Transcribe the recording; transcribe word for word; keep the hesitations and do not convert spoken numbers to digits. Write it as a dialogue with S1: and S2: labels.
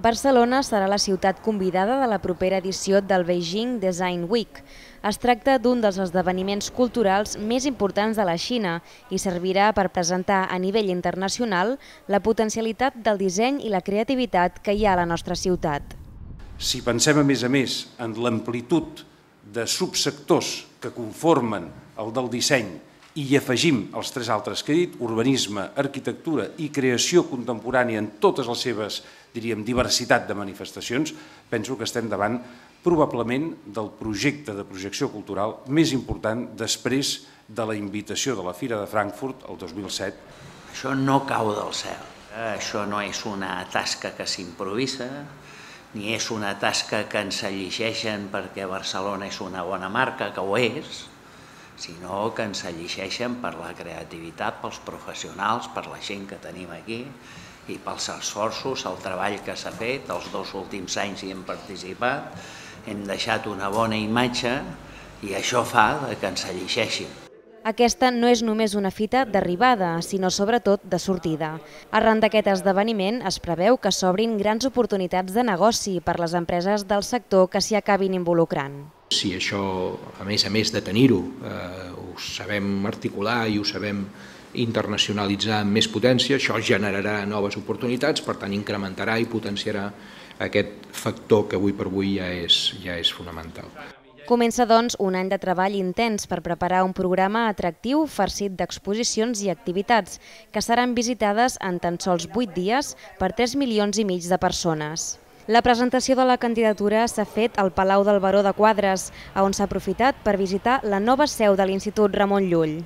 S1: Barcelona serà la ciutat convidada de la propera edició del Beijing Design Week. Es tracta d'un dels esdeveniments culturals més importants de la Xina i servirà per presentar a nivell internacional la potencialitat del disseny i la creativitat que hi ha a la nostra ciutat.
S2: Si pensem, a més a més, en l'amplitud de subsectors que conformen el del disseny i hi afegim els tres altres que he dit, urbanisme, arquitectura i creació contemporània en totes les seves, diríem, diversitat de manifestacions, penso que estem davant probablement del projecte de projecció cultural més important després de la invitació de la Fira de Frankfurt el dos mil set.
S3: Això no cau del cel, això no és una tasca que s'improvisa, ni és una tasca que ens llegeixen perquè Barcelona és una bona marca, que ho és, sinó que ens llegeixen per la creativitat, pels professionals, per la gent que tenim aquí i pels esforços, el treball que s'ha fet. Els dos últims anys hi hem participat, hem deixat una bona imatge i això fa que ens llegeixin.
S1: Aquesta no és només una fita d'arribada, sinó sobretot de sortida. Arran d'aquest esdeveniment es preveu que s'obrin grans oportunitats de negoci per les empreses del sector que s'hi acabin involucrant.
S4: Si això, a més a més de tenir-ho, eh, ho sabem articular i ho sabem internacionalitzar amb més potència, això generarà noves oportunitats, per tant incrementarà i potenciarà aquest factor que avui per avui ja és, ja és fonamental.
S1: Comença, doncs, un any de treball intens per preparar un programa atractiu farcit d'exposicions i activitats que seran visitades en tan sols vuit dies per tres milions i mig de persones. La presentació de la candidatura s'ha fet al Palau del Baró de Quadres, on s'ha aprofitat per visitar la nova seu de l'Institut Ramon Llull.